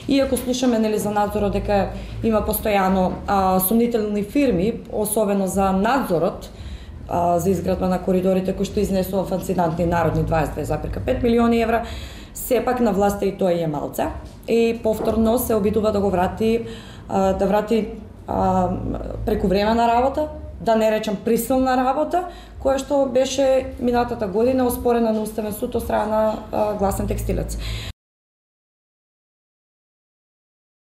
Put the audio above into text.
Иако слушаме нели за надзорот дека има постојано сомнителни фирми, особено за надзорот за изградба на коридорите кои што изнесува фасцинантни народни 22,5 милиони евра, сепак на власта и тоа е малце и повторно се обидува да го врати преку време на работа, да не речам присилна работа, која што беше минатата година оспорена на Уставен суд од страна на гласен текстилец.